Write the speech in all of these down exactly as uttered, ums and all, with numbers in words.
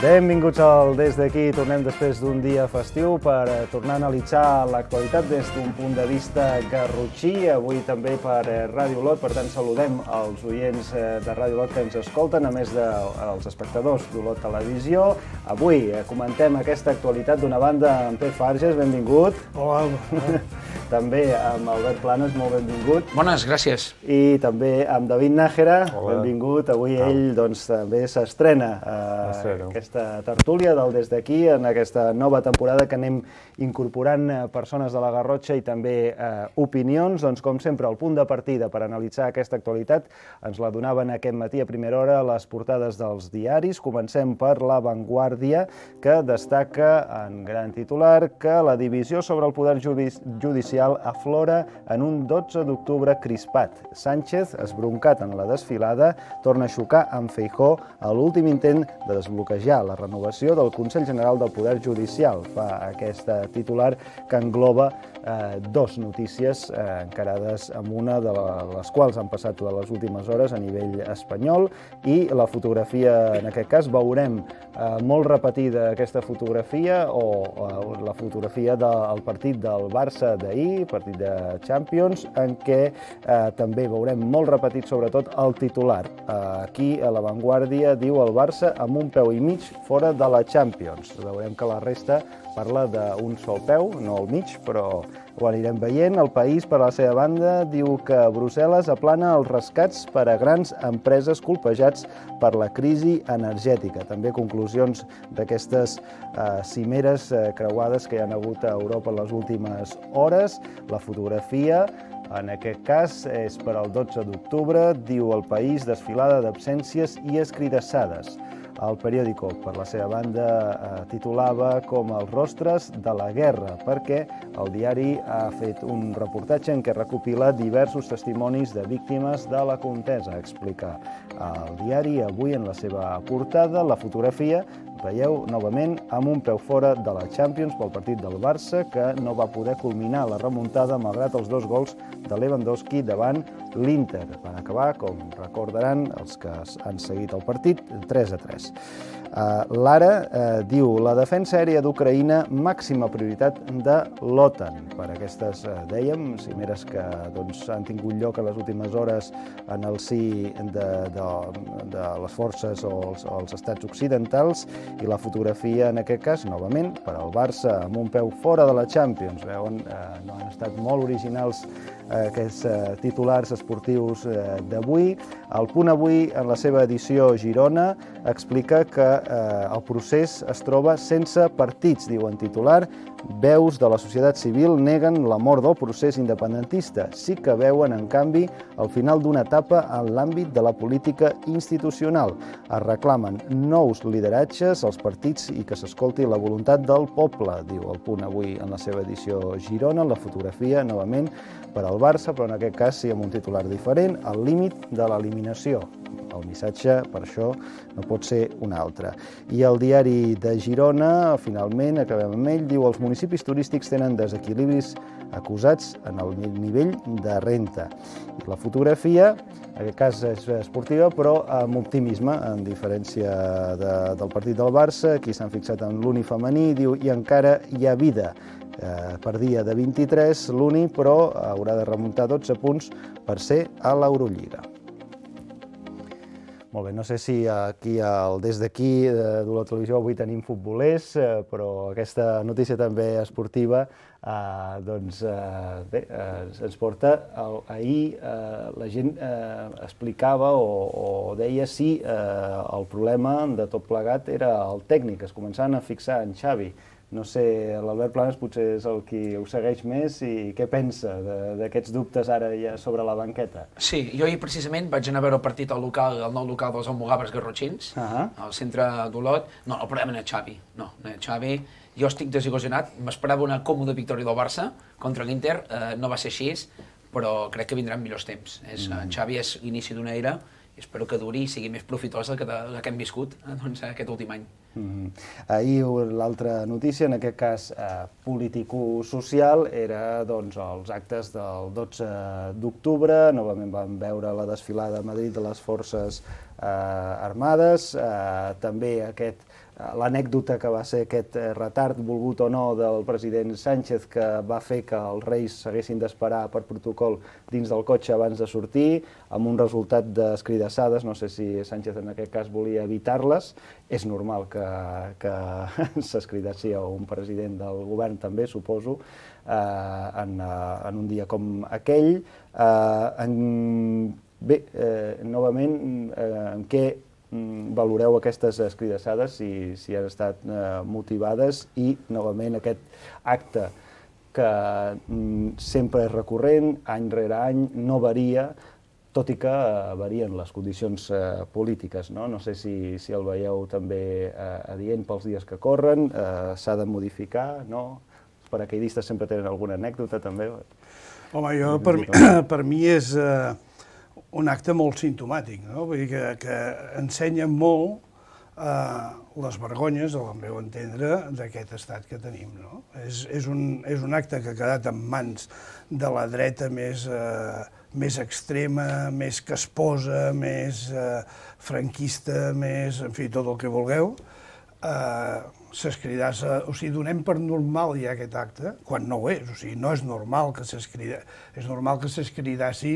Benvinguts al Des d'aquí. Tornem després d'un dia festiu per tornar a analitzar l'actualitat des d'un punt de vista garrotxí. Avui també per Ràdio Olot, per tant saludem els oients de Ràdio Olot que ens escolten, a més dels espectadors d'Olot Televisió. Avui comentem aquesta actualitat d'una banda amb Pep Farges, benvingut. Hola, Alba. També amb Albert Planes, molt benvingut. Bones, gràcies. I també amb David Nájera, benvingut. Avui ell doncs, també s'estrena eh, aquesta tertúlia del Des d'aquí, en aquesta nova temporada que anem incorporant persones de la Garrotxa i també eh, opinions. Doncs, com sempre, el punt de partida per analitzar aquesta actualitat ens la donaven aquest matí a primera hora les portades dels diaris. Comencem per La Vanguardia, que destaca en gran titular que la divisió sobre el poder judicial aflora en un dotze d'octubre crispat. Sánchez, esbroncat en la desfilada, torna a xocar amb Feijóo a l'últim intent de desbloquejar la renovació del Consell General del Poder Judicial. Fa aquesta titular que engloba eh, dos notícies eh, encarades amb una de les quals han passat totes les últimes hores a nivell espanyol, i la fotografia, en aquest cas, veurem eh, molt repetida aquesta fotografia o eh, la fotografia del partit del Barça d'ahir, partit de Champions, en què eh, també veurem molt repetit sobretot el titular. Eh, aquí a La Vanguardia diu el Barça amb un peu i mig fora de la Champions. Veurem que la resta parla d'un sol peu, no al mig, però ho anirem veient. El País, per la seva banda, diu que Brussel·les aplana els rescats per a grans empreses colpejats per la crisi energètica. També conclusions d'aquestes eh, cimeres eh, creuades que hi ha hagut a Europa en les últimes hores. La fotografia, en aquest cas, és per al dotze d'octubre, diu el País, desfilada d'absències i escridassades. El periòdico, per la seva banda, eh, titulava com els rostres de la guerra, perquè el diari ha fet un reportatge en què recopila diversos testimonis de víctimes de la contesa. Explica el diari avui en la seva portada. La fotografia, veieu, novament, amb un peu fora de la Champions pel partit del Barça, que no va poder culminar la remuntada malgrat els dos gols de Lewandowski davant l'Inter. Van acabar, com recordaran els que han seguit el partit, tres a tres. Uh, L'Ara uh, diu la defensa aèria d'Ucraïna màxima prioritat de l'OTAN. Per aquestes, uh, dèiem, cimeres que doncs, han tingut lloc a les últimes hores en el si de, de, de les forces o els, o els estats occidentals, i la fotografia, en aquest cas, novament, per al Barça amb un peu fora de la Champions. Veuen, uh, no han estat molt originals uh, aquests uh, titulars esportius uh, d'avui. El Punt Avui, en la seva edició Girona, explica que eh, el procés es troba sense partits, diuen titular. Veus de la societat civil neguen la mort del procés independentista. Sí que veuen, en canvi, el final d'una etapa en l'àmbit de la política institucional. Es reclamen nous lideratges als partits i que s'escolti la voluntat del poble, diu el Punt Avui en la seva edició Girona. La fotografia, novament, per al Barça, però en aquest cas sí amb un titular diferent, al límit de l'eliminació. El missatge, per això, no pot ser un altre. I el diari de Girona, finalment, acabem amb ell, diu els municipis turístics tenen desequilibris acusats en el nivell de renta. I la fotografia, en aquest cas és esportiva, però amb optimisme, en diferència de, del partit del Barça. Aquí s'han fixat en l'Uni femení, diu, i encara hi ha vida. Eh, per dia de vint-i-tres, l'Uni, però haurà de remuntar dotze punts per ser a l'Eurolliga. Molt bé, no sé si aquí al Des d'aquí d'Olot Televisió avui tenim futbolers, però aquesta notícia també esportiva eh, doncs, eh, bé, eh, ens porta. Ahir eh, la gent eh, explicava o, o deia si eh, el problema de tot plegat era el tècnic, es començaven a fixar en Xavi. No sé, l'Albert Planes potser és el qui ho segueix més, i què pensa d'aquests dubtes ara ja sobre la banqueta? Sí, jo ahir precisament vaig anar a veure el partit al local, al nou local dels Almogàvers Garrotxins, uh -huh. al centre d'Olot. No, el problema no és Xavi, no, no és Xavi. Jo estic desil·lusionat, m'esperava una còmoda victòria del Barça contra l'Inter, eh, no va ser així, però crec que vindran millors temps. És, mm. Xavi és l'inici d'una era i espero que duri i sigui més profitosa que la que hem viscut aquest últim any. Ahir l'altra notícia, en aquest cas político-social, era els actes del dotze d'octubre. Novament vam veure la desfilada a Madrid de les Forces Armades, també aquest l'anècdota que va ser aquest retard, volgut o no, del president Sánchez, que va fer que els reis s'haguessin d'esperar per protocol dins del cotxe abans de sortir, amb un resultat d'escridassades. No sé si Sánchez en aquest cas volia evitar-les. És normal que, que s'escridassi a un president del govern també, suposo, eh, en, en un dia com aquell. Eh, en, bé, eh, novament, eh, en què valoreu aquestes escridassades, si, si han estat eh, motivades, i novament aquest acte que mm, sempre és recurrent, any rere any, no varia, tot i que eh, varien les condicions eh, polítiques, no? No sé si, si el veieu també eh, adient pels dies que corren, eh, s'ha de modificar, no? Els paracaidistes sempre tenen alguna anècdota també. Home, jo, per, mi, per mi és eh, un acte molt simptomàtic, no? Vull dir que, que ensenya molt eh, les vergonyes, al meu entendre, d'aquest estat que tenim, no? És, és, un, és un acte que ha quedat en mans de la dreta més, eh, més extrema, més casposa, més eh, franquista, més, en fi, tot el que vulgueu. Eh, s'escridassa, o sigui, donem per normal ja aquest acte, quan no ho és, o sigui, no és normal que s'escridassi, és normal que s'escridassi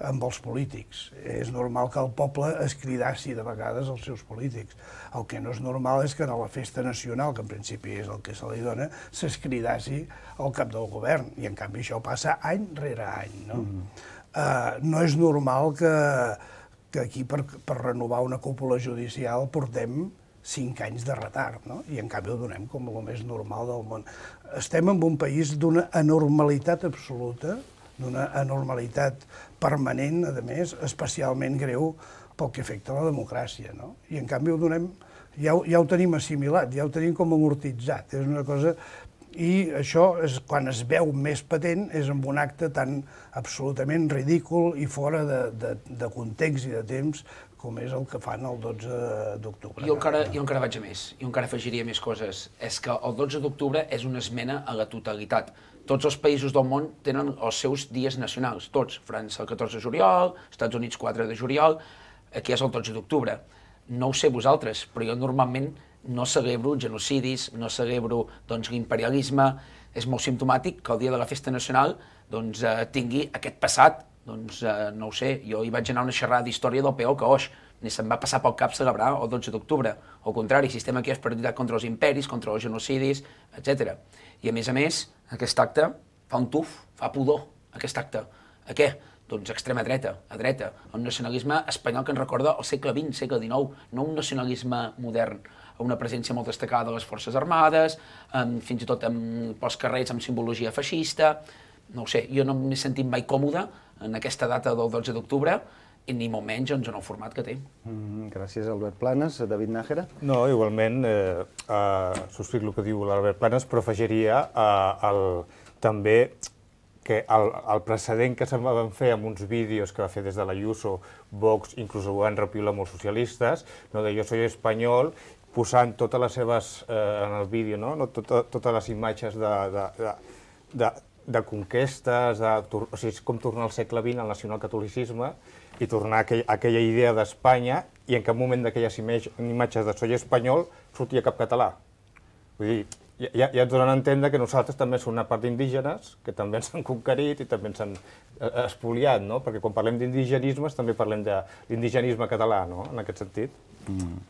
amb els polítics, és normal que el poble escridassi de vegades els seus polítics. El que no és normal és que a la festa nacional, que en principi és el que se li dona, s'escridassi al cap del govern, i en canvi això passa any rere any, no? Mm-hmm. uh, no és normal que, que aquí per, per renovar una cúpula judicial portem cinc anys de retard, no? I en canvi ho donem com el més normal del món. Estem en un país d'una anormalitat absoluta, d'una anormalitat permanent, a més, especialment greu pel que afecta a la democràcia, no? I en canvi ho donem, ja, ja ho tenim assimilat, ja ho tenim com amortitzat, és una cosa... I això, és, quan es veu més patent, és amb un acte tan absolutament ridícul i fora de, de, de context i de temps com és el que fan el dotze d'octubre. Jo encara, jo encara vaig a més, jo encara afegiria més coses. És que el dotze d'octubre és una esmena a la totalitat. Tots els països del món tenen els seus dies nacionals, tots. França el catorze de juliol, Estats Units quatre de juliol, aquí és el dotze d'octubre. No ho sé vosaltres, però jo normalment no celebro genocidis, no celebro doncs, l'imperialisme. És molt simptomàtic que el dia de la festa nacional doncs, eh, tingui aquest passat. Doncs eh, no ho sé, jo hi vaig anar a una xerrada d'història del P O que oix, ni se'm va passar pel cap celebrar el dotze d'octubre. Al contrari, si estem aquí és per lluitar contra els imperis, contra els genocidis, etcètera. I a més a més, aquest acte fa un tuf, fa pudor, aquest acte. A què? Doncs extrema dreta, a dreta, un nacionalisme espanyol que ens recorda el segle vint, segle dinou, no un nacionalisme modern, una presència molt destacada de les Forces Armades, amb, fins i tot amb, pels carrers amb simbologia feixista. No ho sé, jo no m'he sentit mai còmode en aquesta data del dotze d'octubre, i ni molt menys en el format que té. Mm, gràcies, Albert Planes. David Nájera? No, igualment, eh, eh, subscric el que diu l'Albert Planes, però afegiria eh, el, també que el, el precedent que se'n van fer amb uns vídeos que va fer des de l'Ayuso, Vox, inclús ho van repiular molts socialistes, no, de jo soy espanyol, posant totes les seves, eh, en el vídeo, no? No, tot, totes les imatges de, de, de, de, de conquestes, de, o sigui, com tornar al segle vint al nacionalcatolicisme i tornar a aquell, a aquella idea d'Espanya, i en cap moment d'aquelles imatges de soy espanyol sortia cap català. Vull dir, ja, ja ens donen a entendre que nosaltres també som una part d'indígenes, que també ens han conquerit i també ens han espoliat, no? Perquè quan parlem d'indigenismes també parlem de l'indigenisme català, no? En aquest sentit. Mm.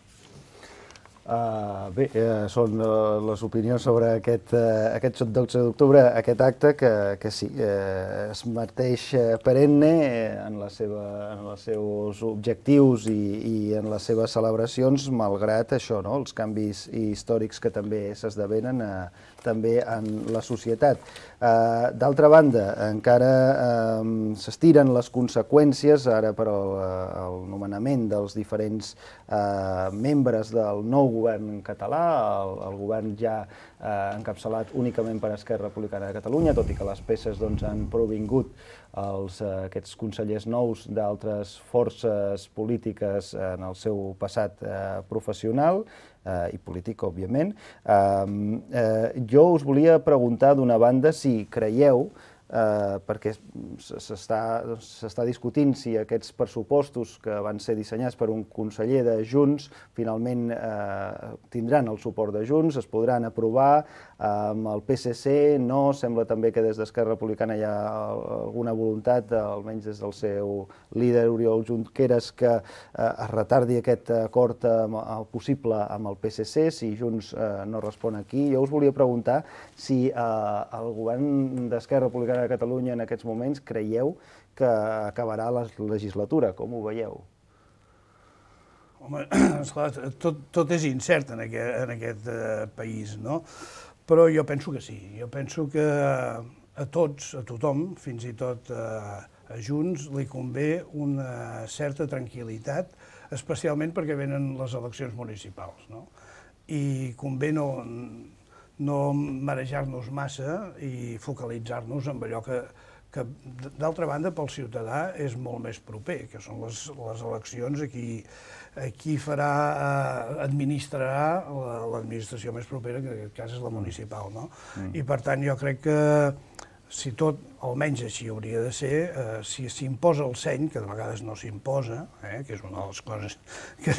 Uh, bé, uh, són uh, les opinions sobre aquest, uh, aquest dotze d'octubre, aquest acte que, que sí, uh, es mateix perenne en, la seva, en els seus objectius i, i en les seves celebracions, malgrat això, no? Els canvis històrics que també s'esdevenen uh, també en la societat. Uh, D'altra banda, encara uh, s'estiren les conseqüències ara per al, el nomenament dels diferents uh, membres del nou govern català, el, el govern ja eh, encapçalat únicament per Esquerra Republicana de Catalunya, tot i que les peces doncs, han provingut els, eh, aquests consellers nous d'altres forces polítiques en el seu passat eh, professional eh, i polític, òbviament. Eh, eh, jo us volia preguntar, d'una banda, si creieu Uh, perquè s'està discutint si aquests pressupostos que van ser dissenyats per un conseller de Junts finalment uh, tindran el suport de Junts, es podran aprovar uh, amb el P S C, no? Sembla també que des d'Esquerra Republicana hi ha alguna voluntat, almenys des del seu líder Oriol Junqueras, que uh, es retardi aquest acord uh, possible amb el P S C, si Junts uh, no respon aquí. Jo us volia preguntar si uh, el govern d'Esquerra Republicana de Catalunya en aquests moments creieu que acabarà la legislatura, com ho veieu? Home, esclar, tot, tot és incert en aquest, en aquest uh, país, no? Però jo penso que sí. Jo penso que a tots, a tothom, fins i tot uh, a Junts, li convé una certa tranquil·litat, especialment perquè venen les eleccions municipals, no? I convé no... no marejar-nos massa i focalitzar-nos en allò que, que d'altra banda, pel ciutadà és molt més proper, que són les, les eleccions a qui, a qui farà, eh, administrarà l'administració més propera, que en aquest cas és la municipal, no? Mm. I per tant jo crec que si tot, almenys així hauria de ser, eh, si s'imposa el seny, que de vegades no s'imposa, eh, que és una de les coses que,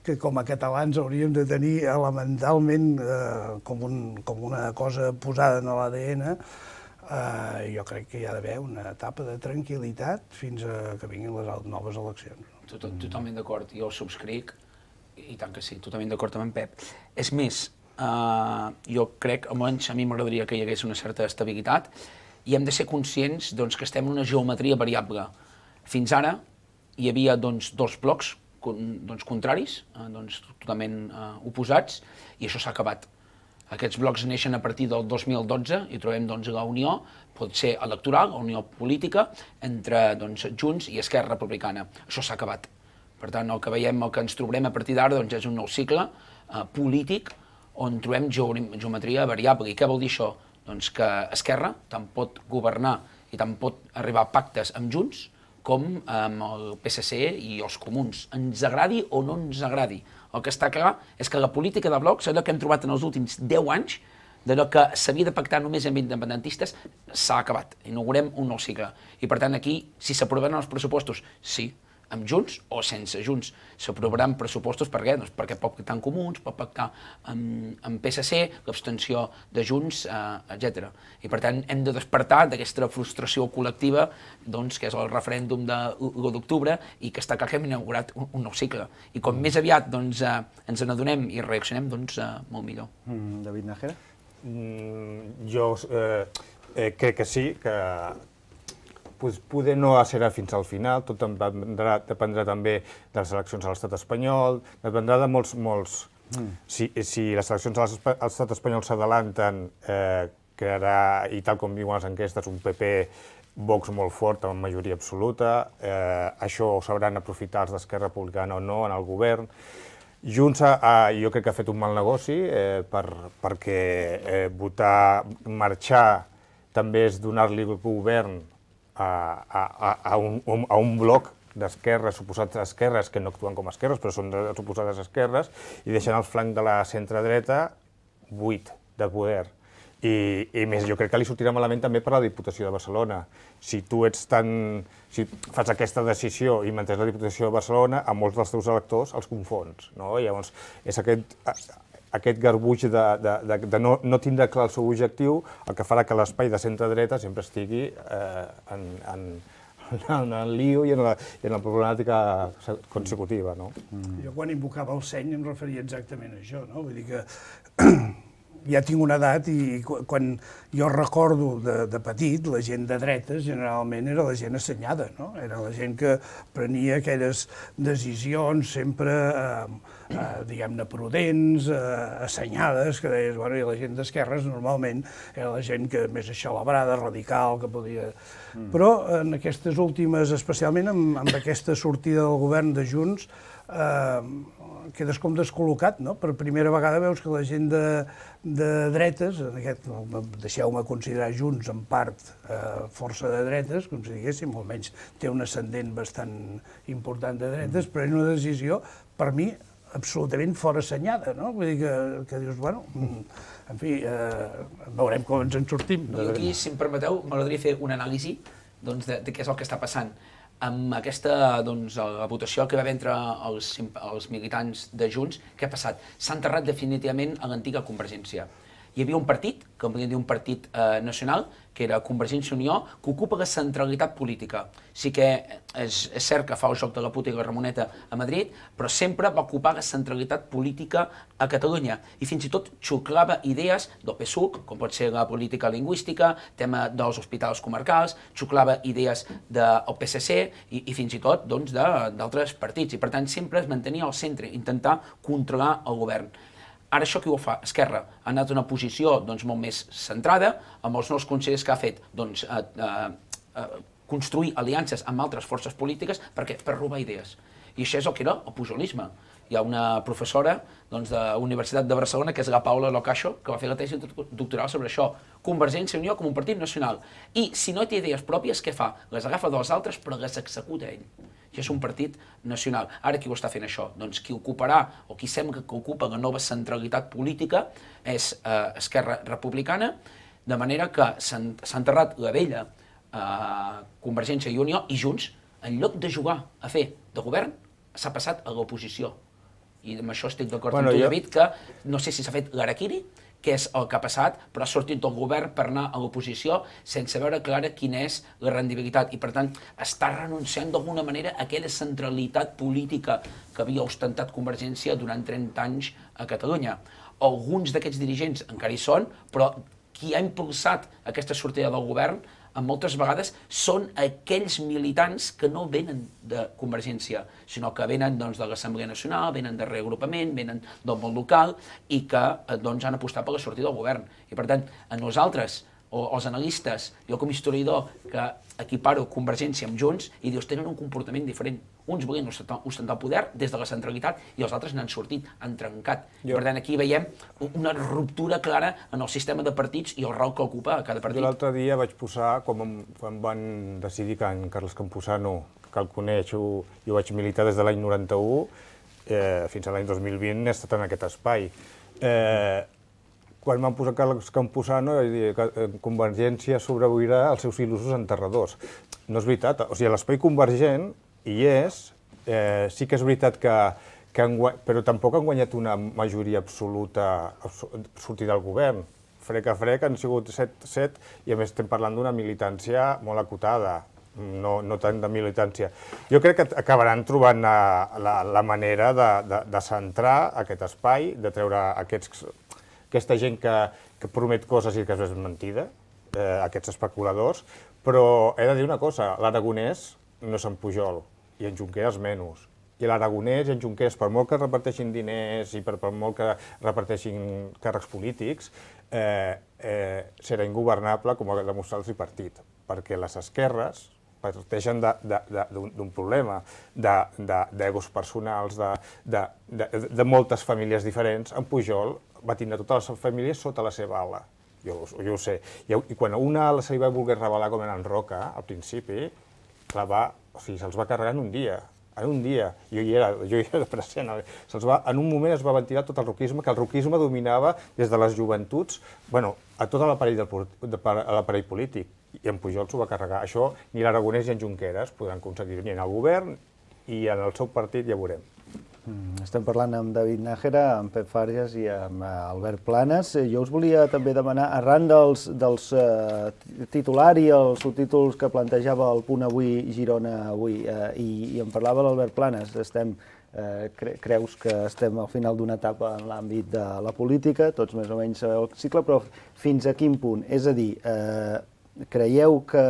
que com a catalans hauríem de tenir elementalment eh, com, un, com una cosa posada en l'A D N, eh, jo crec que hi ha d'haver una etapa de tranquil·litat fins a que vinguin les noves eleccions. Tot, totalment d'acord, jo ho subscric, i tant que sí, totalment d'acord amb en Pep. És més, Uh, jo crec, almenys a mi m'agradaria que hi hagués una certa estabilitat i hem de ser conscients doncs, que estem en una geometria variable. Fins ara hi havia doncs, dos blocs doncs, contraris, uh, doncs, totalment uh, oposats, i això s'ha acabat. Aquests blocs neixen a partir del dos mil dotze i trobem doncs, la unió, pot ser electoral, la unió política, entre doncs, Junts i Esquerra Republicana. Això s'ha acabat. Per tant, el que veiem, el que ens trobarem a partir d'ara doncs, és un nou cicle uh, polític on trobem geometria variable. I què vol dir això? Doncs que Esquerra tant pot governar i tant pot arribar a pactes amb Junts com amb el P S C i els comuns. Ens agradi o no ens agradi. El que està clar és que la política de blocs, allò que hem trobat en els últims deu anys, d'allò que s'havia de pactar només amb independentistes, s'ha acabat. Inaugurem un nou cicle. I per tant aquí, si s'aprovaran els pressupostos, sí, amb Junts o sense Junts. S'aprovaran pressupostos per què? Doncs perquè pot pactar amb comuns, pot pactar amb, amb P S C, l'abstenció de Junts, eh, etcètera. I per tant hem de despertar d'aquesta frustració col·lectiva, doncs, que és el referèndum de l'u d'octubre i que està clar que hem inaugurat un, un nou cicle. I com més aviat doncs, eh, ens n'adonem i reaccionem, doncs eh, molt millor. Mm, David Nájera? Mm, jo eh, eh, crec que sí, que poder no serà fins al final, tot dependrà, dependrà també de les eleccions a l'estat espanyol, dependrà de molts... molts mm. si, si les eleccions a l'estat espanyol s'adalanten, eh, crearà, i tal com diuen les enquestes, un P P Vox molt fort, amb majoria absoluta, eh, això ho sabran aprofitar els d'Esquerra Republicana o no en el govern. Junts ha, jo crec que ha fet un mal negoci, eh, per, perquè eh, votar, marxar, també és donar-li el govern A, a, a, un, a un bloc d'esquerres, suposats esquerres, que no actuen com esquerres, però són suposades esquerres, i deixant el flanc de la centre-dreta buit de poder. I, I més, jo crec que li sortirà malament també per la Diputació de Barcelona. Si tu ets tan... si fas aquesta decisió i mantens la Diputació de Barcelona, a molts dels teus electors els confons, no? Llavors, és aquest... aquest garbuix de, de, de, de no, no tindre clar el seu objectiu, el que farà que l'espai de centre-dreta sempre estigui eh, en, en, en el lío i en la, i en la problemàtica consecutiva. No? Mm. Jo quan invocava el seny em referia exactament a això, no? Vull dir que ja tinc una edat i quan jo recordo de, de petit, la gent de dretes generalment era la gent assenyada, no? Era la gent que prenia aquelles decisions sempre, eh, eh, diguem-ne, prudents, eh, assenyades, que deies, bueno, i la gent d'esquerres normalment era la gent que més aixalabrada, radical, que podia... Mm. Però en aquestes últimes, especialment amb, amb aquesta sortida del govern de Junts, quedes com descol·locat, no? Per primera vegada veus que la gent de dretes, deixeu-me considerar Junts en part força de dretes, com si diguéssim, almenys té un ascendent bastant important de dretes, però és una decisió, per mi, absolutament fora assenyada, no? Vull dir que dius, bueno, en fi, veurem com ens en sortim. Jo aquí, si em permeteu, m'agradaria fer una anàlisi de què és el que està passant. Amb aquesta votació que va haver entre els militants de Junts, què ha passat? S'ha enterrat definitivament a l'antiga Convergència. Hi havia un partit, que en podríem dir un partit nacional, que era Convergència i Unió, que ocupa la centralitat política. Sí que és cert que fa el joc de la puta i la Ramoneta a Madrid, però sempre va ocupar la centralitat política a Catalunya. I fins i tot xuclava idees del P S U C, com pot ser la política lingüística, tema dels hospitals comarcals, xuclava idees del P S C i fins i tot d'altres partits. I per tant sempre es mantenia al centre, intentar controlar el govern. Ara això qui ho fa? Esquerra ha anat a una posició molt més centrada, amb els nous consellers que ha fet construir aliances amb altres forces polítiques per robar idees. I això és el que era el pujolisme. Hi ha una professora de la Universitat de Barcelona, que és la Paula Locacho, que va fer la tesi doctoral sobre això. Convergència i Unió com un partit nacional. I si no té idees pròpies, què fa? Les agafa dels altres, però les executa ell. I és un partit nacional. Ara qui ho està fent això? Doncs qui ocuparà, o qui sembla que ocupa la nova centralitat política és Esquerra Republicana, de manera que s'ha enterrat la vella Convergència i Unió i Junts, en lloc de jugar a fer de govern, s'ha passat a l'oposició. I amb això estic d'acord amb tu, David, que no sé si s'ha fet l'harakiri, què és el que ha passat, però ha sortit del govern per anar a l'oposició sense veure clara quina és la rendibilitat. I, per tant, està renunciant d'alguna manera a aquella centralitat política que havia ostentat Convergència durant trenta anys a Catalunya. Alguns d'aquests dirigents encara hi són, però qui ha impulsat aquesta sortida del govern moltes vegades són aquells militants que no venen de Convergència, sinó que venen de l'Assemblea Nacional, venen de reagrupament, venen del món local i que han apostat per la sortida del govern. I per tant, a nosaltres, o els analistes, jo com a historiador que equiparo Convergència amb Junts i dius, tenen un comportament diferent. Uns volien ostentar el poder des de la centralitat i els altres n'han sortit, han trencat. I per tant aquí veiem una ruptura clara en el sistema de partits i el rol que ocupa cada partit. Jo l'altre dia vaig posar, quan van decidir que en Carles Campuzano, que el coneixo, jo vaig militar des de l'any noranta-u, fins a l'any dos mil vint he estat en aquest espai. Quan van posar Carles Campuzano, Convergència sobreviurà als seus il·lusos enterradors. No és veritat, o sigui, l'espai convergent hi és, sí que és veritat que, però tampoc han guanyat una majoria absoluta sortir del govern. Frec a frec han sigut set i a més estem parlant d'una militància molt acotada, no tant de militància. Jo crec que acabaran trobant la manera de centrar aquest espai, de treure aquests aquesta gent que promet coses i que és mentida, aquests especuladors, però he de dir una cosa, l'Aragonès no és en Pujol, i en Junqueras menys. I l'Aragonès i en Junqueras, per molt que reparteixin diners i per molt que reparteixin càrrecs polítics, serà ingovernable, com ha demostrat el tripartit, perquè les esquerres parteixen d'un problema d'egos personals, de moltes famílies diferents. En Pujol va tindre totes les famílies sota la seva ala, jo ho sé. I quan a una ala se li va voler revelar com era en Roca, al principi, se'ls va carregar en un dia, en un dia, jo hi era, jo hi era present, en un moment es va ventilar tot el roquisme, que el roquisme dominava des de les joventuts, bueno, a tot l'aparell polític, i en Pujol s'ho va carregar. Això ni l'Aragonès ni en Junqueras podran aconseguir, ni en el govern i en el seu partit, ja veurem. Estem parlant amb David Nájera, amb Pep Fàrries i amb Albert Planes. Jo us volia també demanar, arran dels titular i els subtítols que plantejava el Punt Avui Girona avui, i en parlava l'Albert Planes, creus que estem al final d'una etapa en l'àmbit de la política, tots més o menys sabeu el cicle, però fins a quin punt? És a dir, creieu que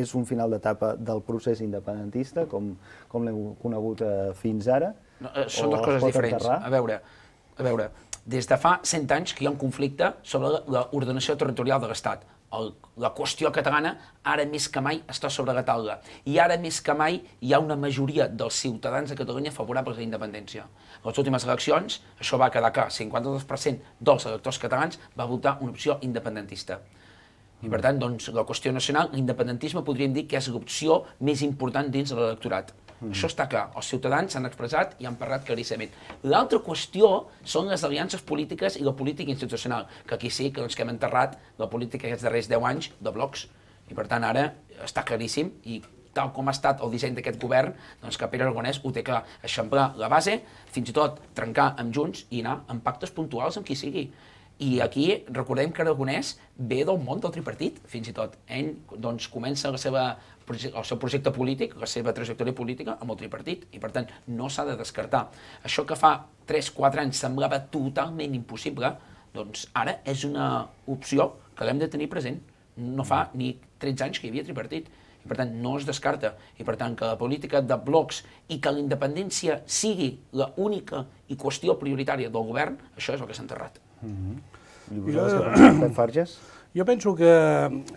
és un final d'etapa del procés independentista, com l'hem conegut fins ara? Són dues coses diferents. A veure, a veure, des de fa cent anys que hi ha un conflicte sobre l'ordenació territorial de l'Estat. la qüestió catalana ara més que mai està sobre la taula i ara més que mai hi ha una majoria dels ciutadans de Catalunya favorables a la independència. A les últimes eleccions això va quedar clar, cinquanta-dos per cent dels electors catalans va votar una opció independentista. I per tant, doncs, la qüestió nacional, l'independentisme podríem dir que és l'opció més important dins de l'electorat. Mm. Això està clar, els ciutadans s'han expressat i han parlat claríssimament. L'altra qüestió són les aliances polítiques i la política institucional, que aquí sí que, doncs, que hem enterrat la política aquests darrers deu anys de blocs. I per tant ara està claríssim i tal com ha estat el disseny d'aquest govern, doncs que Pere Aragonès ho té clar, eixamplar la base, fins i tot trencar amb Junts i anar amb pactes puntuals amb qui sigui. I aquí recordem que Aragonès ve del món del tripartit, fins i tot. Ell doncs, comença la seva, el seu projecte polític, la seva trajectòria política amb el tripartit, i per tant no s'ha de descartar. Això que fa tres quatre anys semblava totalment impossible, doncs ara és una opció que l'hem de tenir present. No fa ni tretze anys que hi havia tripartit, i per tant no es descarta. I per tant que la política de blocs i que la independència sigui l'única i qüestió prioritària del govern, això és el que s'ha enterrat. I vosaltres què penseu, Pep Farges? Jo penso que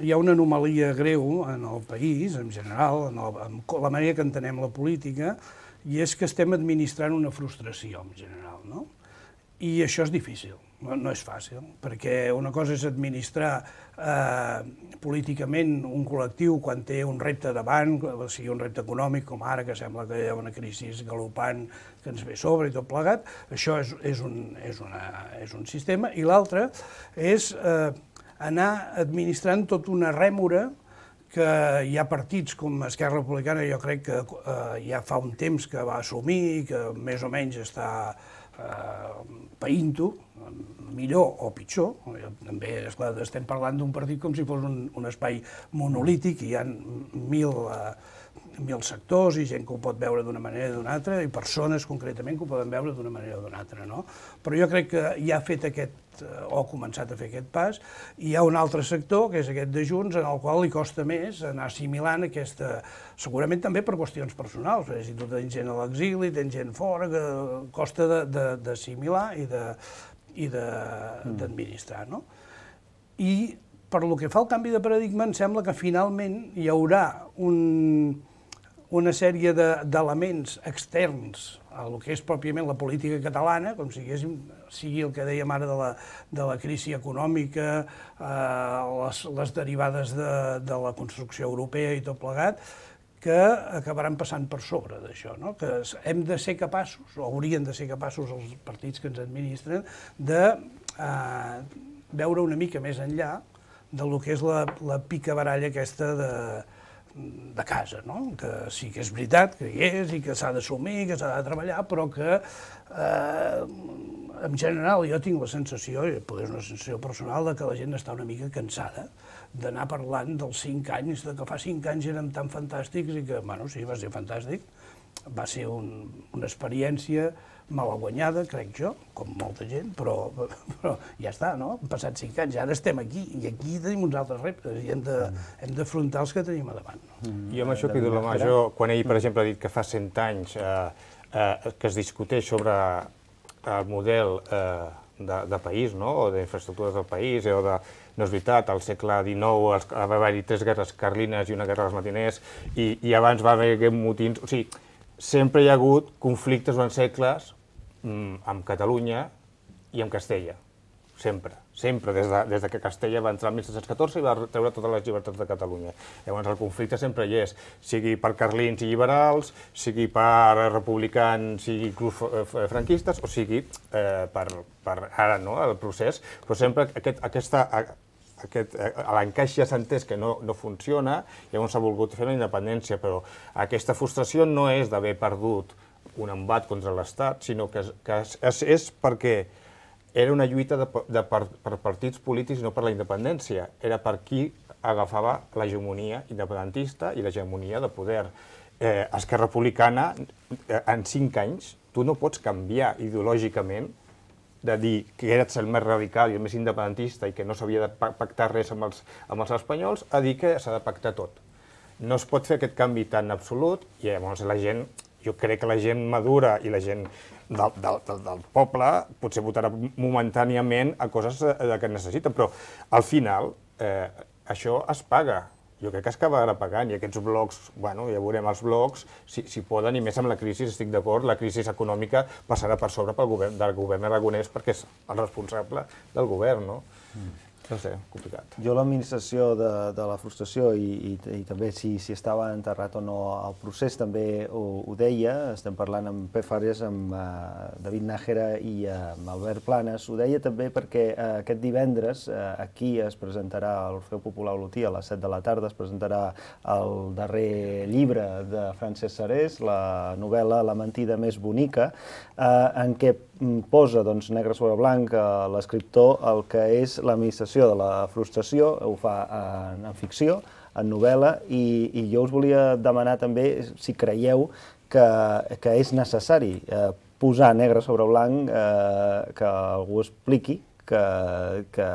hi ha una anomalia greu en el país, en general, en, el, en la manera que entenem la política, i és que estem administrant una frustració, en general, no? I això és difícil, no, no és fàcil, perquè una cosa és administrar eh, políticament un col·lectiu quan té un repte davant, sigui un repte econòmic, com ara, que sembla que hi ha una crisi galopant que ens ve sobre i tot plegat, això és, és, un, és, una, és un sistema, i l'altre és eh, anar administrant tota una rèmora que hi ha partits com Esquerra Republicana, jo crec que eh, ja fa un temps que va assumir i que més o menys està eh, paint-ho, millor o pitjor. També, esclar, estem parlant d'un partit com si fos un, un espai monolític i hi ha mil, uh, mil sectors i gent que ho pot veure d'una manera o d'una altra i persones concretament que ho poden veure d'una manera o d'una altra, no? Però jo crec que ja ha fet aquest, o ha començat a fer aquest pas, i hi ha un altre sector, que és aquest de Junts, en el qual li costa més anar assimilant aquesta, segurament també per qüestions personals, perquè si tu tens gent a l'exili, tens gent fora, que costa d'assimilar i de i d'administrar, no? I per lo que fa al canvi de paradigma, em sembla que finalment hi haurà un, una sèrie d'elements externs a lo que és pròpiament la política catalana, com si sigui el que dèiem ara de la, de la crisi econòmica, eh, les, les derivades de, de la construcció europea i tot plegat, que acabaran passant per sobre d'això, no? Que hem de ser capaços, o haurien de ser capaços els partits que ens administren, de eh, veure una mica més enllà del que és la, la picabaralla aquesta de, de casa, no? Que sí que és veritat que hi és i que s'ha d'assumir, que s'ha de treballar, però que eh, en general jo tinc la sensació, i potser és una sensació personal, de que la gent està una mica cansada d'anar parlant dels cinc anys, de que fa cinc anys érem tan fantàstics i que, bueno, sí, va ser fantàstic, va ser un, una experiència malaguanyada, crec jo, com molta gent, però, però ja està, no? Han passat cinc anys, ara estem aquí, i aquí tenim uns altres reptes, i hem de, hem d'afrontar els que tenim a davant. No? Jo amb això pido la mà, jo, quan ell, per exemple, ha dit que fa cent anys eh, eh, que es discuteix sobre el model eh, de, de país, no? O d'infraestructures del país, o de... No és veritat, al segle dinou va haver-hi tres guerres carlines i una guerra dels matiners, i, i abans va haver motins... O sigui, sempre hi ha hagut conflictes durant segles mm, amb Catalunya i amb Castella. Sempre, sempre, des de, des de que Castella va entrar el mil set-cents catorze i va treure totes les llibertats de Catalunya. Llavors el conflicte sempre hi és, sigui per carlins i liberals, sigui per republicans i inclús franquistes, o sigui eh, per, per ara, no?, el procés, però sempre aquest, aquesta... Aquest, l'encaix ja s'ha entès que no, no funciona, llavors s'ha volgut fer la independència, però aquesta frustració no és d'haver perdut un embat contra l'Estat, sinó que, que és, és perquè era una lluita de, de, per, per partits polítics i no per la independència, era per qui agafava l'hegemonia independentista i l'hegemonia de poder. Eh, Esquerra Republicana, en cinc anys, tu no pots canviar ideològicament de dir que eres el més radical i el més independentista i que no s'havia de pactar res amb els, amb els espanyols, a dir que s'ha de pactar tot. No es pot fer aquest canvi tan absolut i llavors la gent, jo crec que la gent madura i la gent del, del, del, del poble potser votarà momentàniament a coses que necessiten, però al final eh, això es paga. Jo crec que es acabarà pagant, i aquests blocs, bueno, ja veurem els blocs, si, si poden, i més amb la crisi, estic d'acord, la crisi econòmica passarà per sobre pel govern, del govern aragonès, perquè és el responsable del govern, no? Mm. No sé, complicat. Jo l'administració de, de la frustració i, i, i també si, si estava enterrat o no el procés també ho, ho deia, estem parlant amb Pep Fàbregas, amb uh, David Nájera i uh, amb Albert Planes, ho deia també perquè uh, aquest divendres uh, aquí es presentarà a l'Orfeó Popular Olotí a les set de la tarda, es presentarà el darrer llibre de Francesc Sarés, la novel·la La mentida més bonica, uh, en què posa doncs, negre sobre blanc a l'escriptor el que és l'administració de la frustració, ho fa en, en ficció, en novel·la, i, i jo us volia demanar també si creieu que, que és necessari eh, posar negre sobre blanc, eh, que algú expliqui que, que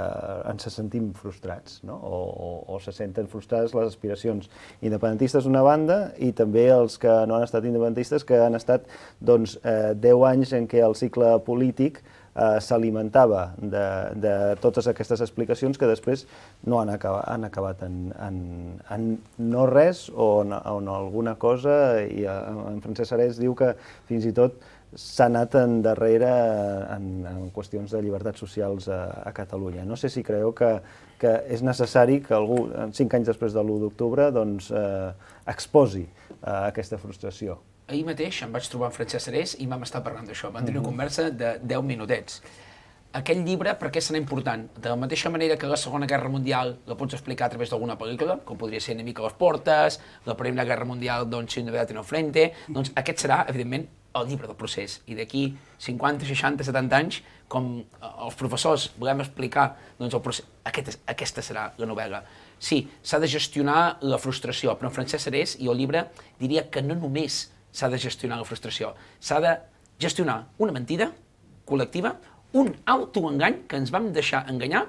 ens sentim frustrats, no? o, o, o se senten frustrades les aspiracions independentistes d'una banda i també els que no han estat independentistes, que han estat doncs, eh, deu anys en què el cicle polític eh, s'alimentava de, de totes aquestes explicacions que després no han acabat, han acabat en, en, en no res o en, en alguna cosa, i en Francesc Sarés diu que fins i tot s'ha anat endarrere en, en qüestions de llibertats socials a, a Catalunya. No sé si creieu que, que és necessari que algú, cinc anys després de l'u d'octubre, doncs, eh, exposi eh, aquesta frustració. Ahir mateix em vaig trobar amb Francesc Sarés i vam estar parlant d'això. Vam tenir una conversa de deu minutets. Aquell llibre, per què serà important? De la mateixa manera que la Segona Guerra Mundial la pots explicar a través d'alguna pel·lícula, com podria ser Enemic a les portes, la Primera Guerra Mundial, doncs, Sin novedad en el frente, doncs aquest serà, evidentment, el llibre del procés. I d'aquí cinquanta, seixanta, setanta anys, com els professors volem explicar doncs, el procés, aquest, aquesta serà la novel·la. Sí, s'ha de gestionar la frustració, però en Francesc Sarés i el llibre diria que no només s'ha de gestionar la frustració, s'ha de gestionar una mentida col·lectiva, un autoengany que ens vam deixar enganyar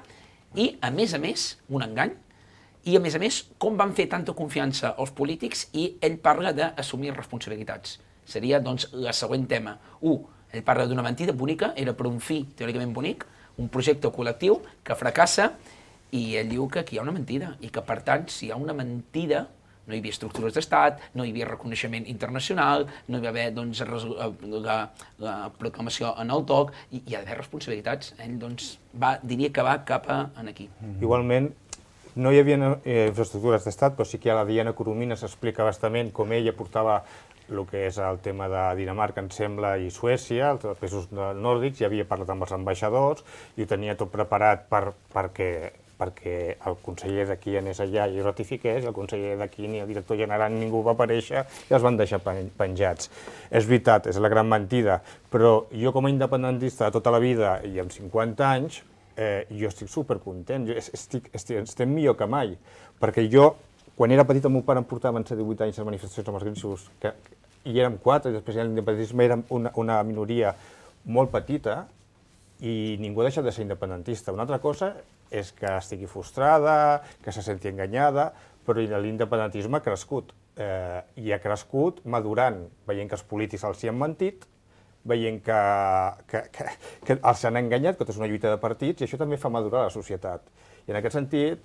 i, a més a més, un engany, i a més a més, com van fer tanta confiança als polítics, i ell parla d'assumir responsabilitats. Seria, doncs, el següent tema. Un, ell parla d'una mentida bonica, era per un fi teòricament bonic, un projecte col·lectiu que fracassa, i ell diu que aquí hi ha una mentida, i que, per tant, si hi ha una mentida, no hi havia estructures d'estat, no hi havia reconeixement internacional, no hi va haver doncs, la, la proclamació en el toc, i hi ha d'haver responsabilitats. Ell doncs, va, diria que va cap a aquí. Igualment, no hi havia eh, infraestructures d'estat, però sí que a la Diana Coromines s'explica bastament com ella portava el que és el tema de Dinamarca, em sembla, i Suècia, els països nòrdics, ja havia parlat amb els ambaixadors i ho tenia tot preparat per, perquè, perquè el conseller d'aquí anés allà i ratifiqués, i el conseller d'aquí ni el director general ningú va aparèixer i els van deixar penjats. És veritat, és la gran mentida, però jo com a independentista de tota la vida i amb cinquanta anys, eh, jo estic supercontent, jo estic, estic, estem millor que mai, perquè jo, quan era petit, el meu pare em portava en divuit anys a manifestacions amb els grinxos, que i érem quatre, i després l'independentisme era una, una minoria molt petita i ningú ha deixat de ser independentista. Una altra cosa és que estigui frustrada, que se senti enganyada, però l'independentisme ha crescut. Eh, I ha crescut madurant, veient que els polítics els hi han mentit, veient que, que, que, que els han enganyat, que tot és una lluita de partits, i això també fa madurar la societat. I en aquest sentit,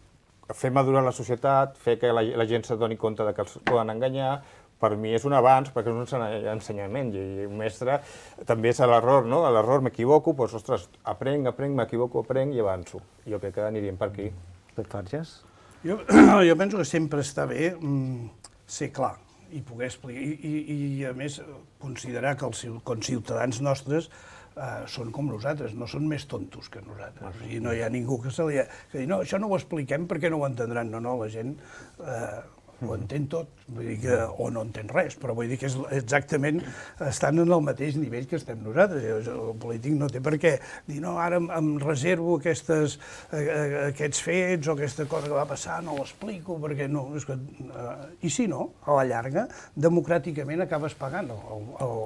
fer madurar la societat, fer que la, la gent s'adoni compte de que els poden enganyar, per mi és un avanç, perquè és un ensenyament, i un mestre també és l'error, no? A l'error m'equivoco, doncs, ostres, aprenc, aprenc, m'equivoco, aprenc i avanço. Jo crec que aniríem per aquí. Pep Fàbregas? Jo, jo penso que sempre està bé mm, ser clar i poder explicar, i, i, i a més considerar que els conciutadans nostres eh, són com nosaltres, no són més tontos que nosaltres. O sigui, no hi ha ningú que se li ha... que dir, no, això no ho expliquem perquè no ho entendran. No, no, la gent... Eh, ho entén tot, vull dir que, o no entén res, però vull dir que és exactament estan en el mateix nivell que estem nosaltres. El polític no té per què dir, no, ara em, em reservo aquestes, eh, aquests fets o aquesta cosa que va passar, no l'explico, perquè no... És que, eh, I si no, a la llarga, democràticament acabes pagant el, el,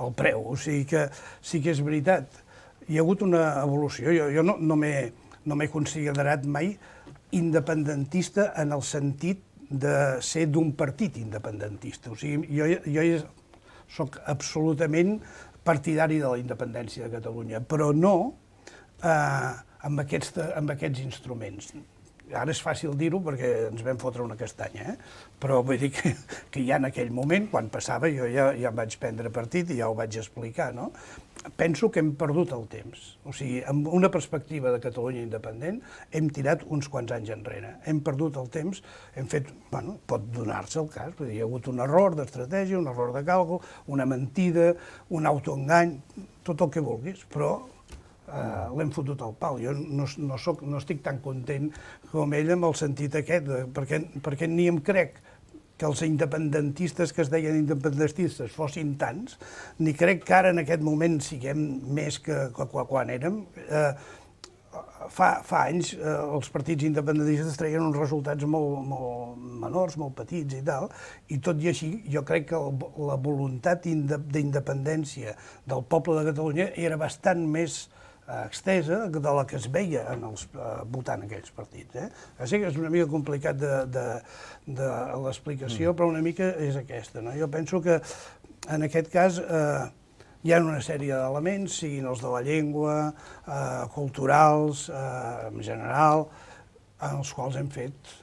el preu. O sigui que sí que és veritat. Hi ha hagut una evolució. Jo, jo no, no m'he no m'he considerat mai independentista en el sentit de ser d'un partit independentista. O sigui, jo, jo soc absolutament partidari de la independència de Catalunya, però no eh, amb, aquests, amb aquests instruments. Ara és fàcil dir-ho perquè ens vam fotre una castanya, eh? Però vull dir que, que ja en aquell moment, quan passava, jo ja, ja vaig prendre partit i ja ho vaig explicar, no? Penso que hem perdut el temps. O sigui, amb una perspectiva de Catalunya independent, hem tirat uns quants anys enrere. Hem perdut el temps, hem fet, bueno, pot donar-se el cas, vull dir, hi ha hagut un error d'estratègia, un error de càlcul, una mentida, un autoengany, tot el que vulguis, però Uh, l'hem fotut al pal. Jo no, no, soc, no estic tan content com ell amb el sentit aquest, de, perquè, perquè ni em crec que els independentistes que es deien independentistes fossin tants, ni crec que ara en aquest moment siguem més que, que, que quan érem. Uh, fa, fa anys uh, els partits independentistes treien uns resultats molt, molt menors, molt petits i tal, i tot i així jo crec que el, la voluntat d'independència del poble de Catalunya era bastant més extesa de la que es veia en els, eh, votant aquells partits. Eh? Així que és una mica complicat de, de, de l'explicació, mm. però una mica és aquesta. No? Jo penso que en aquest cas eh, hi ha una sèrie d'elements, siguin els de la llengua, eh, culturals, eh, en general, en els quals hem fet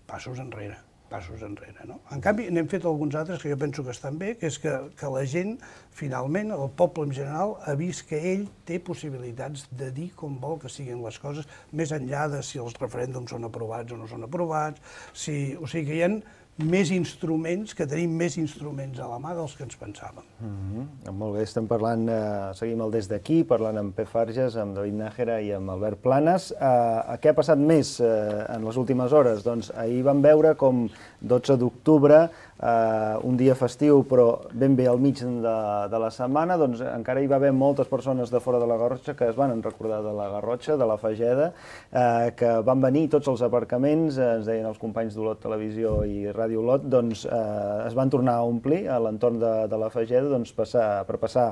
passos enrere. passos enrere. No? En canvi, n'hem fet alguns altres que jo penso que estan bé, que és que, que la gent, finalment, el poble en general, ha vist que ell té possibilitats de dir com vol que siguin les coses, més enllà de si els referèndums són aprovats o no són aprovats, si, o sigui que hi ha més instruments, que tenim més instruments a la mà dels que ens pensàvem. Mm-hmm. Molt bé, estem parlant, eh, seguim el Des d'aquí, parlant amb Pep Farges, amb David Nájera i amb Albert Planes. Eh, què ha passat més eh, en les últimes hores? Doncs ahir vam veure com dotze d'octubre, eh, un dia festiu, però ben bé al mig de, de la setmana, doncs encara hi va haver moltes persones de fora de la Garrotxa que es van recordar de la Garrotxa, de la Fageda, eh, que van venir tots els aparcaments, eh, ens deien els companys d'Olot Televisió i Ràdio Olot, doncs eh, es van tornar a omplir a l'entorn de, de la Fageda doncs, passar, per passar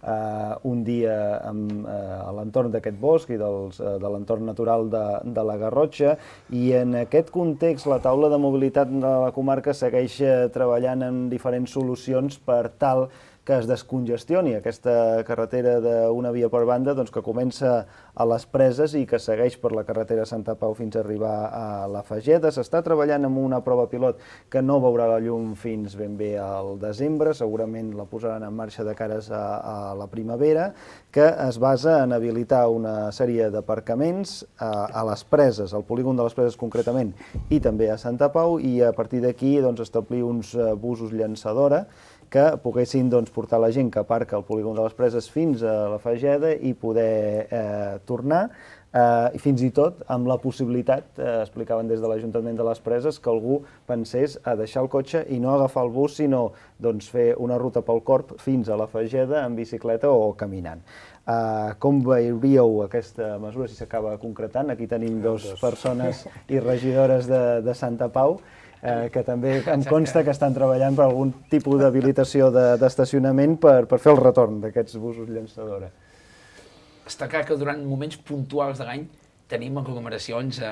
eh, un dia amb, eh, a l'entorn d'aquest bosc i dels, eh, de l'entorn natural de, de la Garrotxa, i en aquest context la taula de mobilitat de la comarca segueix treballant en diferents solucions per tal que es descongestioni aquesta carretera d'una via per banda, doncs, que comença a les Preses i que segueix per la carretera Santa Pau fins a arribar a la Fageda. S'està treballant amb una prova pilot que no veurà la llum fins ben bé al desembre, segurament la posaran en marxa de cares a, a la primavera, que es basa en habilitar una sèrie d'aparcaments a, a les Preses, al polígon de les Preses concretament, i també a Santa Pau, i a partir d'aquí doncs, establir uns busos llançadora que poguessin doncs, portar la gent que aparca al polígon de les Preses fins a la Fageda i poder eh, tornar, eh, i fins i tot amb la possibilitat, eh, explicaven des de l'Ajuntament de les Preses, que algú pensés a deixar el cotxe i no agafar el bus, sinó doncs, fer una ruta pel Corb fins a la Fageda en bicicleta o caminant. Uh, com veuríeu aquesta mesura si s'acaba concretant? Aquí tenim dues persones i regidores de, de Santa Pau, Eh, que també em consta que estan treballant per algun tipus d'habilitació d'estacionament de, per, per fer el retorn d'aquests busos llançadora. Està clar que durant moments puntuals de l'any tenim aglomeracions, eh,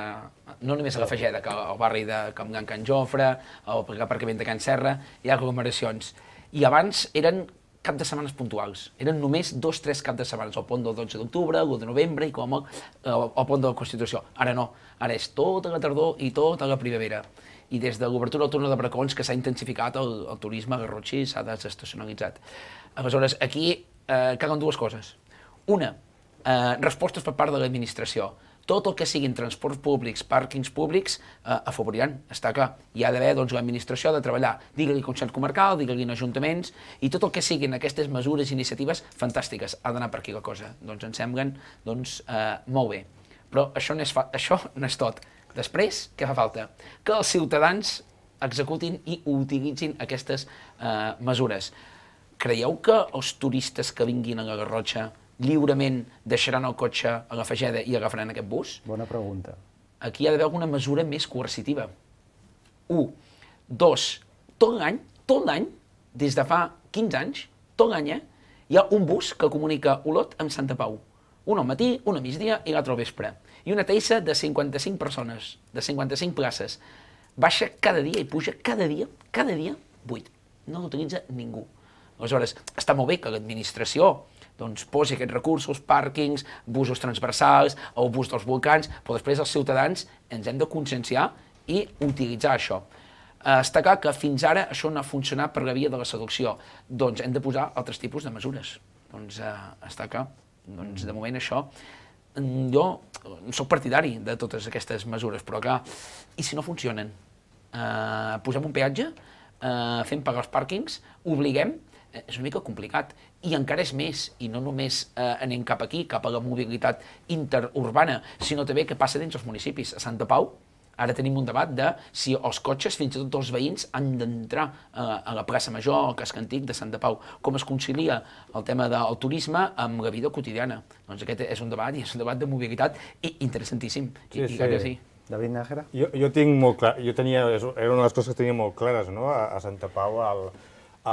no només a la Fageda, que al barri de Can Can Jofre, o per l'aparcament de Can Serra, hi ha aglomeracions. I abans eren cap de setmanes puntuals. Eren només dos, tres cap de setmanes, el pont del dotze d'octubre, l'u de novembre i com el, el pont de la Constitució. Ara no, ara és tota la tardor i tota la primavera. I des de l'obertura al túnel de Bracons que s'ha intensificat el, el turisme garrotxí, s'ha desestacionalitzat. Aleshores, aquí eh, calen dues coses. Una, eh, respostes per part de l'administració. Tot el que siguin transports públics, pàrquings públics, eh, afavoriran, està clar. Hi ha d'haver doncs, l'administració de treballar, digue-li Consell Comarcal, digue-li ajuntaments, i tot el que siguin aquestes mesures i iniciatives fantàstiques. Ha d'anar per aquí la cosa. Doncs ens semblen doncs, eh, molt bé. Però això no és, fa això no és tot. Després, què fa falta? Que els ciutadans executin i utilitzin aquestes eh, mesures. Creieu que els turistes que vinguin a la Garrotxa lliurement deixaran el cotxe a la Fageda i agafaran aquest bus? Bona pregunta. Aquí hi ha d'haver alguna mesura més coercitiva. Un. Dos. Tot l'any, tot l'any, des de fa quinze anys, tot l'any, eh, hi ha un bus que comunica Olot amb Santa Pau. Un al matí, un a migdia i l'altre al vespre. I una taissa de cinquanta-cinc persones, de cinquanta-cinc places. Baixa cada dia i puja cada dia, cada dia, buit. No l'utilitza ningú. Aleshores, està molt bé que l'administració doncs, posi aquests recursos, pàrquings, busos transversals, el bus dels volcans, però després els ciutadans ens hem de conscienciar i utilitzar això. Està clar que fins ara això no ha funcionat per la via de la seducció, doncs hem de posar altres tipus de mesures. Doncs està clar, doncs de moment això, jo soc partidari de totes aquestes mesures, però clar, i si no funcionen? Posem un peatge, fem pagar els pàrquings, obliguem, és una mica complicat, i encara és més, i no només anem cap aquí, cap a la mobilitat interurbana, sinó també que passa dins els municipis. A Santa Pau, ara tenim un debat de si els cotxes, fins i tot els veïns, han d'entrar a la plaça Major, al casc antic de Santa Pau. Com es concilia el tema del turisme amb la vida quotidiana? Doncs aquest és un debat, i és un debat de mobilitat interessantíssim. Sí, sí. sí. David Nájera? Jo, jo tinc molt clar, jo tenia, era una de les coses que tenia molt clares, no?, a, a Santa Pau. El,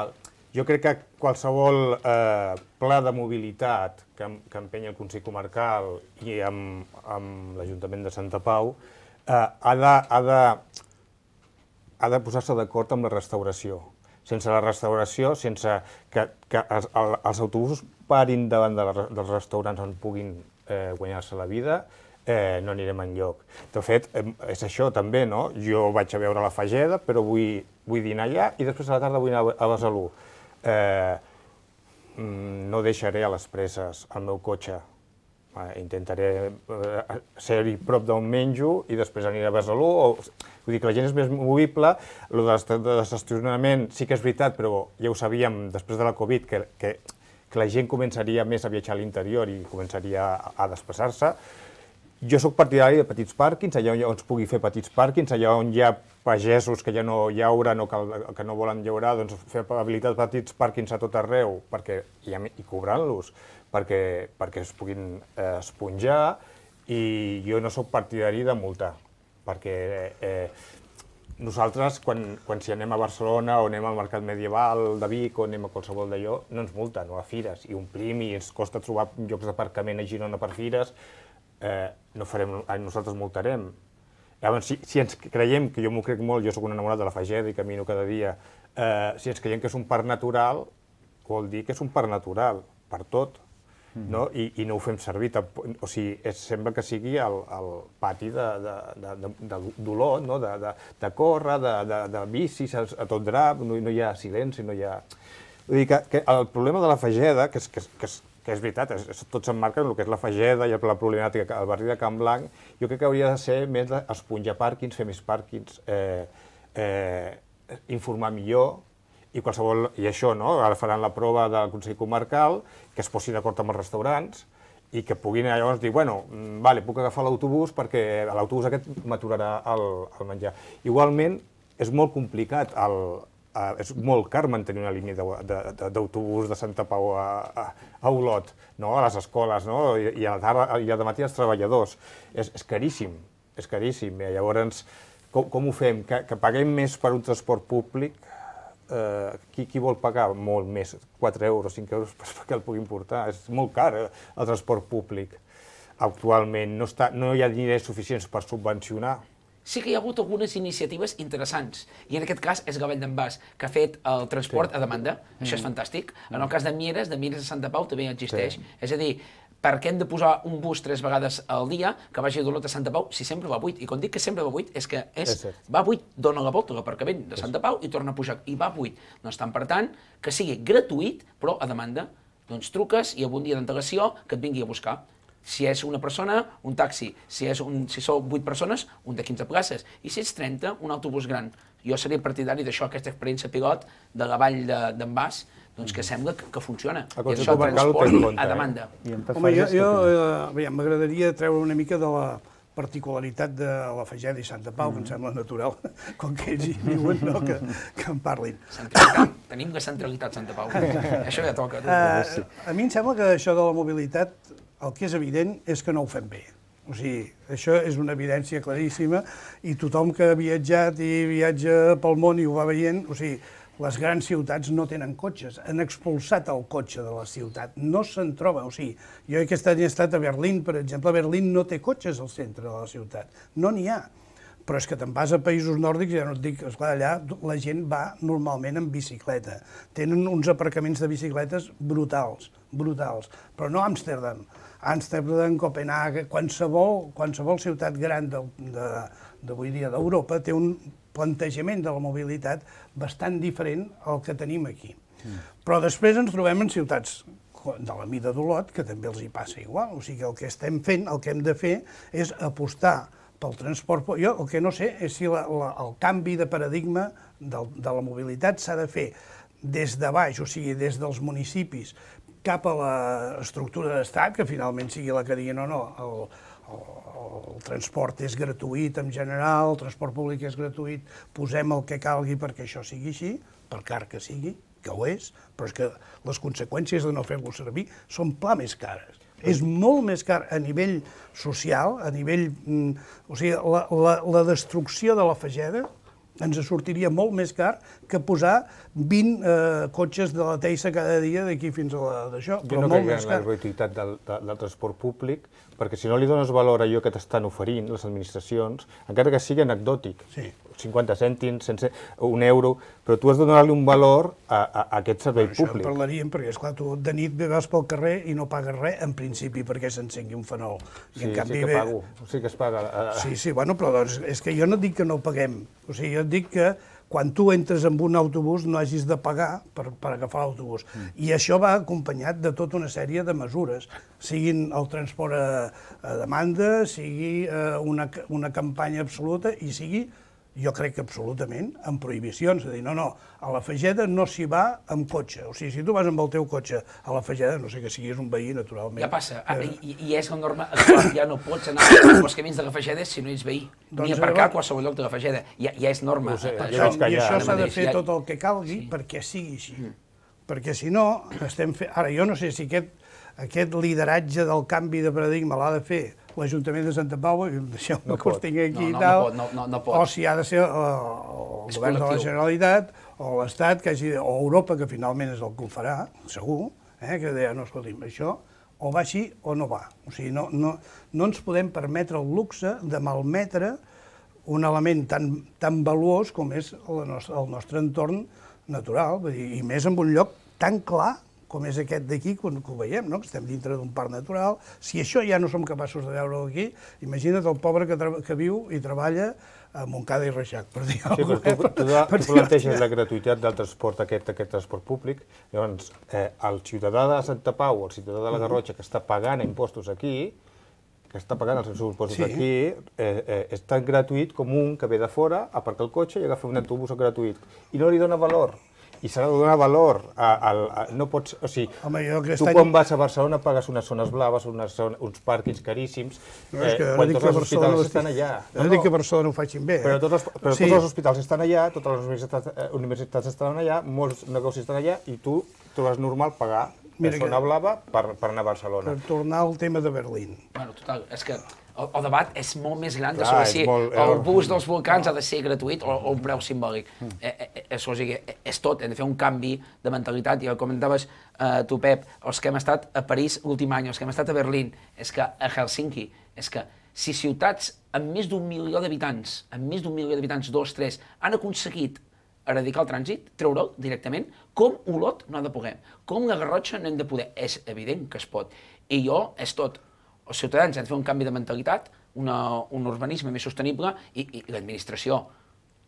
el, jo crec que qualsevol eh, pla de mobilitat que, que empenya el Consell Comarcal i amb, amb l'Ajuntament de Santa Pau Uh, ha de, ha de, ha de posar-se d'acord amb la restauració. Sense la restauració, sense que, que els, els autobusos parin davant de la, dels restaurants on puguin eh, guanyar-se la vida, eh, no anirem enlloc. De fet, eh, és això també, no? Jo vaig a veure la Fageda, però vull, vull dinar allà i després a la tarda vull anar a Besalú. Eh, no deixaré a les presses el meu cotxe. Intentaré ser-hi prop d'on menjo i després aniré a Besalú. Vull dir que la gent és més movible. El de l'estacionament sí que és veritat, però ja ho sabíem després de la Covid, que, que, que la gent començaria més a viatjar a l'interior i començaria a, a desplaçar-se. Jo sóc partidari de petits pàrquings, allà on es pugui fer petits pàrquings, allà on hi ha pagesos que ja no llauren o que, que no volen llaurar, doncs fer habilitat petits pàrquings a tot arreu perquè, i, i cobrant-los, perquè, perquè es puguin eh, esponjar, i jo no sóc partidari de multar, perquè eh, nosaltres, quan, quan si anem a Barcelona o anem al Mercat Medieval de Vic o anem a qualsevol d'allò, no ens multen, o a fires, i omplim i ens costa trobar llocs d'aparcament a Girona per fires, eh, no farem, nosaltres multarem. Llavors, si, si ens creiem, que jo m'ho crec molt, jo sóc un enamorat de la Fageda i camino cada dia, eh, si ens creiem que és un parc natural, vol dir que és un parc natural, per tot. No? I, i no ho fem servir, o sigui, és, sembla que sigui el, el pati d'Olot, no? de, de, de córrer, de, de, de bicis, a, a tot drap, no, no hi ha silenci, no hi ha... Vull dir que, que el problema de la Fageda, que és, que, que és, que és veritat, és, és, tots s'emmarquen en el que és la Fageda i la problemàtica al barri de Can Blanc, jo crec que hauria de ser més d'esponjar pàrquings, fer més pàrquings, eh, eh, informar millor, i qualsevol, i això, no? Ara faran la prova del Consell Comarcal, que es posi d'acord amb els restaurants i que puguin llavors dir, bueno, vale, puc agafar l'autobús perquè l'autobús aquest m'aturarà el, el menjar. Igualment, és molt complicat, el, a, és molt car mantenir una línia d'autobús de, de, de Santa Pau a, a, a Olot, no? A les escoles, no? I, i a la tarda i al matí als treballadors. És, és caríssim, és caríssim. I llavors, com, com ho fem? Que, que paguem més per un transport públic? Uh, qui, qui vol pagar molt més, quatre euros, cinc euros, perquè el puguin portar? És molt car, eh, el transport públic. Actualment no, està, no hi ha diners suficients per subvencionar. Sí que hi ha hagut algunes iniciatives interessants, i en aquest cas és Gavell d'en Bas, que ha fet el transport sí. a demanda, mm. això és fantàstic. En el cas de Mieres, de Mieres a Santa Pau també existeix, sí. és a dir, per què hem de posar un bus tres vegades al dia que vagi d'Olot a Santa Pau si sempre va buit? I quan dic que sempre va buit és que és, és va buit, dona la volta a l'aparcament de Santa Pau i torna a pujar, i va buit. Doncs tant per tant, que sigui gratuït, però a demanda. Doncs truques i amb un dia d'antelació que et vingui a buscar. Si és una persona, un taxi. Si, és un, si sou vuit persones, un de quinze places. I si ets trenta, un autobús gran. Jo seria partidari d'això, aquesta experiència pilot de la vall d'en Bas, doncs que sembla que, que funciona. I això transport a demanda. Home, jo, jo eh, m'agradaria treure una mica de la particularitat de la Fageda i Santa Pau, mm. que em sembla natural, com que ells hi viuen, no? que, que en parlin. Tenim la centralitat Santa Pau, això ja toca. Uh, a mi em sembla que això de la mobilitat, el que és evident és que no ho fem bé. O sigui, això és una evidència claríssima i tothom que ha viatjat i viatja pel món i ho va veient, o sigui, les grans ciutats no tenen cotxes, han expulsat el cotxe de la ciutat, no se'n troba. O sigui, jo aquest any he estat a Berlín, per exemple, Berlín no té cotxes al centre de la ciutat, no n'hi ha. Però és que te'n vas a països nòrdics, ja no et dic, esclar, allà la gent va normalment en bicicleta. Tenen uns aparcaments de bicicletes brutals, brutals. Però no Amsterdam. Amsterdam, Copenhague, qualsevol, qualsevol ciutat gran d'avui dia d'Europa té un plantejament de la mobilitat bastant diferent al que tenim aquí. Mm. Però després ens trobem en ciutats de la mida d'Olot, que també els hi passa igual. O sigui que el que estem fent, el que hem de fer, és apostar pel transport. Jo el que no sé és si la, la, el canvi de paradigma de, de la mobilitat s'ha de fer des de baix, o sigui, des dels municipis, cap a l'estructura d'estat, que finalment sigui la que digui no, no, el, el, el transport és gratuït en general, el transport públic és gratuït, posem el que calgui perquè això sigui així, per car que sigui, que ho és, però és que les conseqüències de no fer-lo servir són pla més cares. És molt més car a nivell social, a nivell... O sigui, la, la, la destrucció de la Fageda ens sortiria molt més car que posar vint eh, cotxes de la Teissa cada dia d'aquí fins a la d'això, però molt més car. Jo no crec en la gratuïtat del, del transport públic, perquè si no li dones valor a allò que t'estan oferint les administracions, encara que sigui anecdòtic, sí. cinquanta cèntims, sense, un euro, però tu has de donar-li un valor a, a, a aquest servei bueno, públic. Això en parlaríem, perquè esclar, tu de nit vas pel carrer i no pagues res, en principi, perquè s'encengui un fanol. I sí, en canvi, sí que pago, sí que es paga. Sí, sí, bueno, però doncs, és que jo no dic que no paguem, o sigui, jo et dic que quan tu entres en un autobús no hagis de pagar per, per agafar l'autobús. Mm. I això va acompanyat de tota una sèrie de mesures, siguin el transport a, a demanda, sigui eh, una, una campanya absoluta i sigui, jo crec que absolutament, amb prohibicions. És a dir, no, no, a la Fageda no s'hi va amb cotxe. O sigui, si tu vas amb el teu cotxe a la Fageda, no sé que siguis un veí, naturalment. Ja passa, eh, i, i és la norma, ja no pots anar als camins de la Fageda si no ets veí, doncs ni aparcar a qualsevol lloc de la Fageda. Ja, ja és norma. Sé, això, I això s'ha de fer tot el que calgui sí. perquè sigui així. Mm. Perquè si no, estem fent... Ara, jo no sé si aquest, aquest lideratge del canvi de paradigma l'ha de fer l'Ajuntament de Santa Pau, deixeu-me no que us tingui aquí no, no, i tal, no, no, no, no o si ha de ser uh, el és govern col·lectiu. De la Generalitat, o l'Estat, que hagi, o Europa, que finalment és el que ho farà, segur, eh, que deia, no, escolti'm, això o va així o no va. O sigui, no, no, no ens podem permetre el luxe de malmetre un element tan, tan valuós com és el nostre, el nostre entorn natural, vull dir, i més en un lloc tan clar com és aquest d'aquí, que ho veiem, no? Que estem dintre d'un parc natural. Si això ja no som capaços de veure-ho aquí, imagina't el pobre que, que viu i treballa a Montcada i Reixac, per dir alguna cosa. Sí, però tu, tu, tu, tu planteges la gratuïtat del transport, aquest, aquest transport públic, llavors eh, el ciutadà de Santa Pau, el ciutadà de la Garrotxa, que està pagant impostos aquí, que està pagant els seus impostos sí. aquí, eh, eh, és tan gratuït com un que ve de fora, aparca el cotxe i agafa un autobús gratuït. I no li dona valor. I s'ha de donar valor a, a, a, no pots, o sigui, Home, tu quan vas a Barcelona pagues unes zones blaves, unes, uns pàrquings caríssims, no, és que eh, quan tots els hospitals estic... estan allà. No, no dic que a Barcelona ho facin bé, eh? Però, tots els, però sí. tots els hospitals estan allà, totes les universitats, eh, universitats estan allà, molts negocis estan allà, i tu trobes normal pagar Mira zona que... blava per, per anar a Barcelona. Per tornar al tema de Berlín. Bueno, total, és que el, el debat és molt més gran de sobre si molt, el bus dels volcans ha de ser gratuït o, o un preu simbòlic. Mm. Eh, eh, és, o sigui, és tot, hem de fer un canvi de mentalitat. I com comentaves eh, tu, Pep, els que hem estat a París l'últim any, els que hem estat a Berlín, és que a Helsinki, és que si ciutats amb més d'un milió d'habitants, amb més d'un milió d'habitants, dos, tres, han aconseguit eradicar el trànsit, treure'l directament, com Olot no ha de poder, com la Garrotxa no hem de poder. És evident que es pot. I jo, és tot. Els ciutadans han de fer un canvi de mentalitat, una, un urbanisme més sostenible i, i l'administració.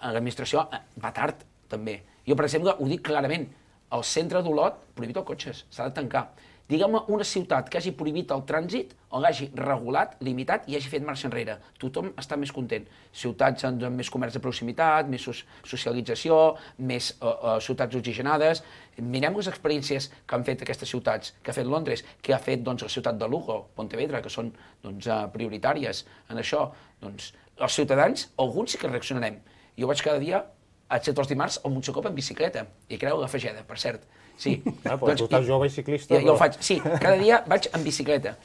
L'administració va tard, també. Jo, per exemple, ho dic clarament, el centre d'Olot prohibit els cotxes, s'ha de tancar. Digue'm una ciutat que hagi prohibit el trànsit o l'hagi regulat, limitat i hagi fet marxa enrere. Tothom està més content. Ciutats amb més comerç de proximitat, més socialització, més uh, uh, ciutats oxigenades. Mirem les experiències que han fet aquestes ciutats, que ha fet Londres, que ha fet doncs, la ciutat de Lugo, Pontevedra, que són doncs, uh, prioritàries en això. Doncs, els ciutadans, alguns sí que reaccionarem. Jo vaig cada dia, excepte els dimarts, al Montsecopa en bicicleta, i creu la Fageda, per cert. Sí. Ah, però doncs, tu estàs jove i ciclista. Jo, jo ho faig, sí, cada dia vaig en bicicleta.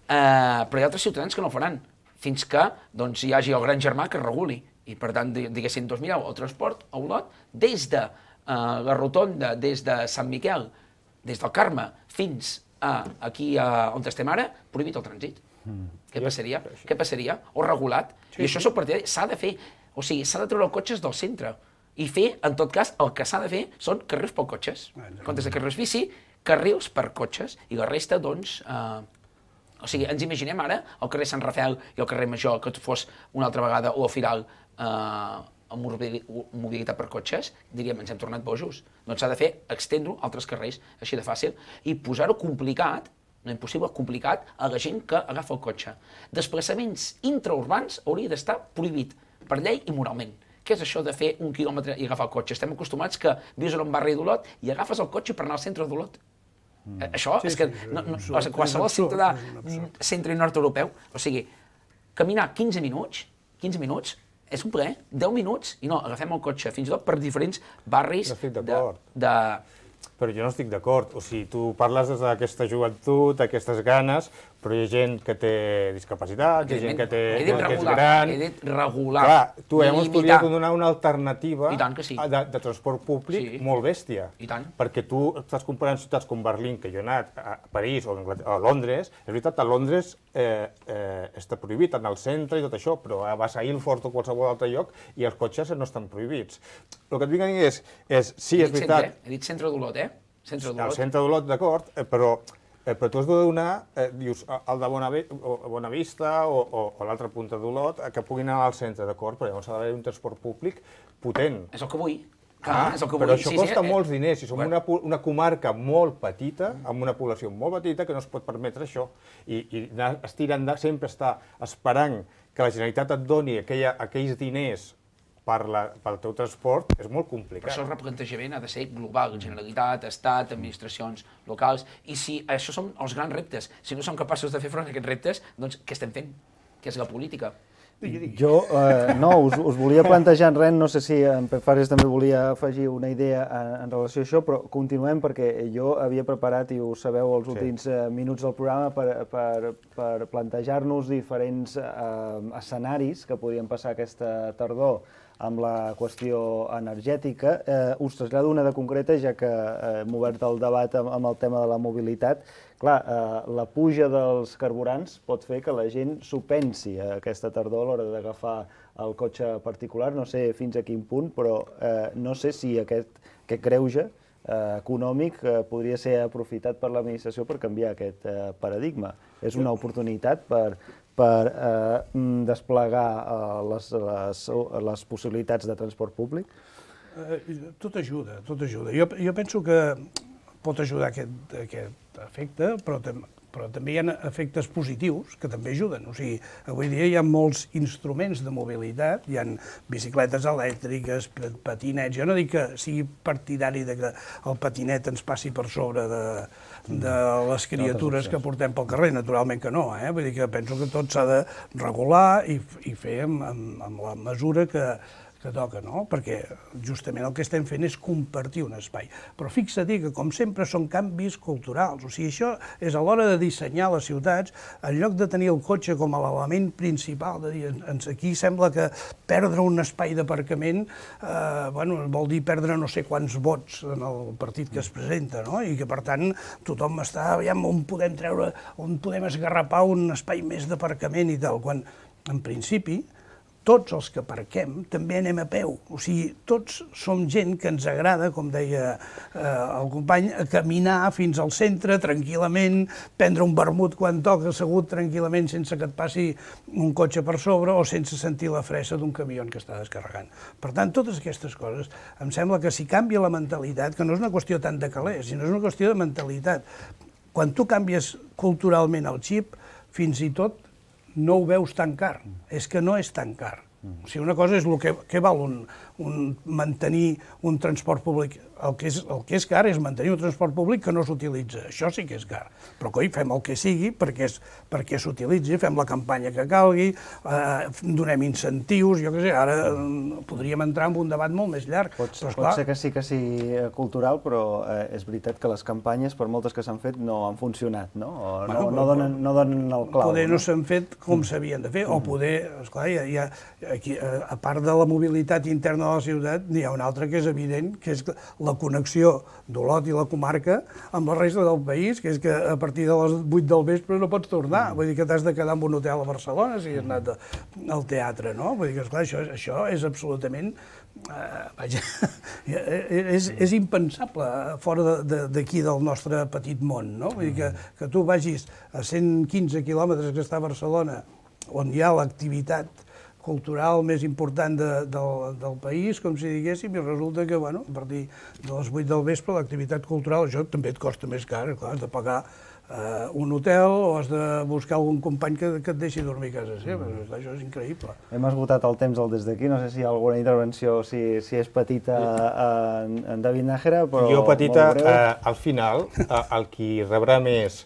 Uh, però hi ha altres ciutadans que no ho faran, fins que doncs, hi hagi el gran germà que reguli. I per tant, diguéssim, doncs mireu, el transport a Olot, des de uh, la rotonda, des de Sant Miquel, des del Carme, fins a aquí uh, on estem ara, prohibit el trànsit. Mm. Què passaria? Què passaria? O regulat. Sí, I això és el partidari. S'ha de fer. O sigui, s'ha de treure cotxes del centre i fer, en tot cas, el que s'ha de fer són carrils per cotxes. En comptes de carrils bici, carrils per cotxes. I la resta, doncs... Eh, o sigui, ens imaginem ara el carrer Sant Rafel i el carrer Major, que fos una altra vegada, o el Firal, eh, amb mobilitat per cotxes, diríem, ens hem tornat bojos. Doncs s'ha de fer, extendre-ho a altres carrers, així de fàcil, i posar-ho complicat, no impossible, complicat, a la gent que agafa el cotxe. Desplaçaments intraurbans hauria d'estar prohibit per llei i moralment. Què és això de fer un quilòmetre i agafar el cotxe? Estem acostumats que vius en un barri d'Olot i agafes el cotxe per anar al centre d'Olot. Mm. Això sí, és que sí, no, no, o sigui, qualsevol ciutadà centre i nord europeu, o sigui, caminar quinze minuts, quinze minuts, és un plaer, deu minuts, i no, agafem el cotxe, fins i tot per diferents barris de... de... Però jo no estic d'acord, o sigui, tu parles d'aquesta joventut, d'aquestes ganes, però hi ha gent que té discapacitat, hi ha gent que, té, que és gran... He dit regular, clar, tu hemos podria donar una alternativa sí. de, de transport públic sí. molt bèstia. I tant. Perquè tu estàs comparant ciutats com Berlín, que jo he anat a París o a Londres, és veritat, a Londres eh, eh, està prohibit anar al centre i tot això, però vas a Ilford o qualsevol altre lloc i els cotxes no estan prohibits. El que et vinc a dir és, és sí, és veritat... He dit centre d'Olot, eh? Centre al centre d'Olot, d'acord, eh, però, eh, però tu has de donar, eh, dius, el de Bonavista o, o, o l'altra punta d'Olot, eh, que puguin anar al centre, d'acord, però llavors ha d'haver un transport públic potent. És el que vull. Clar, ah, és el que però vull. això sí, costa sí, molts eh, diners, i som bueno. una, una comarca molt petita, amb una població molt petita, que no es pot permetre això. I, i estirant de, sempre està esperant que la Generalitat et doni aquella, aquells diners per la, pel teu transport, és molt complicat. Per això el replantejament ha de ser global, Generalitat, Estat, administracions locals, i si això són els grans reptes, si no som capaços de fer front a aquests reptes, doncs què estem fent? Què és la política? Jo, eh, no, us, us volia plantejar en res, no sé si en Pep Fares també volia afegir una idea en, en relació a això, però continuem perquè jo havia preparat, i ho sabeu, els últims sí. eh, minuts del programa per, per, per plantejar-nos diferents eh, escenaris que podien passar aquesta tardor amb la qüestió energètica. Eh, us trasllado una de concreta, ja que eh, hem obert el debat amb, amb el tema de la mobilitat. Clar, eh, la puja dels carburants pot fer que la gent s'ho pensi aquesta tardor a l'hora d'agafar el cotxe particular. No sé fins a quin punt, però eh, no sé si aquest, aquest greuge eh, econòmic eh, podria ser aprofitat per l'administració per canviar aquest eh, paradigma. És una oportunitat per... per eh, desplegar eh, les, les, les possibilitats de transport públic? Eh, tot ajuda, tot ajuda. Jo, jo penso que pot ajudar aquest, aquest efecte, però, tam, però també hi ha efectes positius que també ajuden. O sigui, avui dia hi ha molts instruments de mobilitat, hi ha bicicletes elèctriques, patinets. Jo no dic que sigui partidari de que el patinet ens passi per sobre de, de les criatures que portem pel carrer, naturalment que no, eh? Vull dir que penso que tot s'ha de regular i, i fer amb, amb, amb la mesura que, que toca, no? Perquè justament el que estem fent és compartir un espai. Però fixa't que, com sempre, són canvis culturals. O sigui, això és a l'hora de dissenyar les ciutats, en lloc de tenir el cotxe com a l'element principal, de dir, aquí sembla que perdre un espai d'aparcament eh, bueno, vol dir perdre no sé quants vots en el partit que es presenta, no? I que, per tant, tothom està, aviam, on podem treure, on podem esgarrapar un espai més d'aparcament i tal, quan, en principi, tots els que aparquem també anem a peu. O sigui, tots som gent que ens agrada, com deia eh, el company, caminar fins al centre tranquil·lament, prendre un vermut quan toca, assegut tranquil·lament sense que et passi un cotxe per sobre o sense sentir la fressa d'un camió que està descarregant. Per tant, totes aquestes coses, em sembla que si canvia la mentalitat, que no és una qüestió tant de calés, sinó és una qüestió de mentalitat. Quan tu canvies culturalment el xip, fins i tot no ho veus tan car, és que no és tan car. O sigui, una cosa és el que, que val un, un, mantenir un transport públic. El que, és, el que és car és mantenir un transport públic que no s'utilitza. Això sí que és car. Però, coi, fem el que sigui perquè, perquè s'utilitzi, fem la campanya que calgui, eh, donem incentius, jo què sé, ara eh, podríem entrar en un debat molt més llarg. Pot, però, pot ser que sí que sigui cultural, però eh, és veritat que les campanyes, per moltes que s'han fet, no han funcionat, no? O no, bueno, no, donen, no donen el clau. Poder no, no s'han fet com s'havien de fer, mm. o poder, esclar, hi ha, hi ha, aquí, a part de la mobilitat interna de la ciutat n'hi ha una altra que és evident, que és la connexió d'Olot i la comarca amb la resta del país, que és que a partir de les vuit del vespre no pots tornar, vull dir que t'has de quedar en un hotel a Barcelona si has anat al teatre, no? Vull dir que, esclar, això, això és absolutament... Uh, vaja, és, és impensable fora d'aquí del nostre petit món, no? Vull dir que, que tu vagis a cent quinze quilòmetres que està a Barcelona, on hi ha l'activitat cultural més important de, del, del país, com si diguéssim, i resulta que, bueno, a partir de les vuit del vespre l'activitat cultural, això també et costa més car, clar, has de pagar Uh, un hotel o has de buscar algun company que, que et deixi dormir a casa seva. Mm. Això és increïble. Hem esgotat el temps del des d'aquí, no sé si hi ha alguna intervenció, si, si és petita en, en David Nájera, però jo petita, eh, al final, eh, el qui rebrà més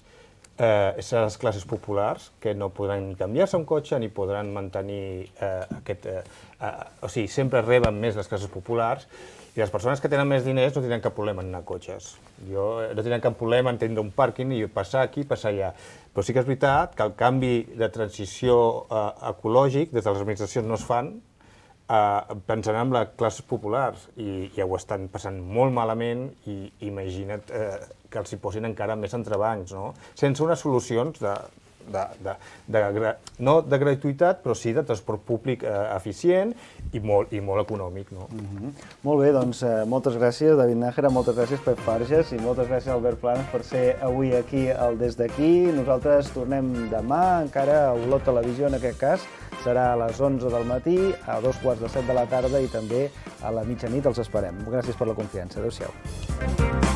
eh, seran les classes populars, que no podran ni canviar-se un cotxe ni podran mantenir eh, aquest... Eh, eh, o sigui, sempre reben més les classes populars, i les persones que tenen més diners no tindran cap problema en anar a cotxes. Jo, no tindran cap problema en tindre un pàrquing i passar aquí, passar allà. Però sí que és veritat que el canvi de transició eh, ecològic des de les administracions no es fan eh, pensant en les classes populars i ja ho estan passant molt malament i imagina't eh, que els hi posin encara més entrebancs, no? Sense unes solucions de... De, de, de, no de gratuïtat, però sí de transport públic eh, eficient i molt, i molt econòmic. No? Mm-hmm. Molt bé, doncs eh, moltes gràcies, David Nájera, moltes gràcies, Pep Farges, i moltes gràcies, Albert Planas, per ser avui aquí al Des d'Aquí. Nosaltres tornem demà, encara a Olot Televisió, en aquest cas. Serà a les onze del matí, a dos quarts de set de la tarda i també a la mitjanit els esperem. Gràcies per la confiança. Adéu-siau.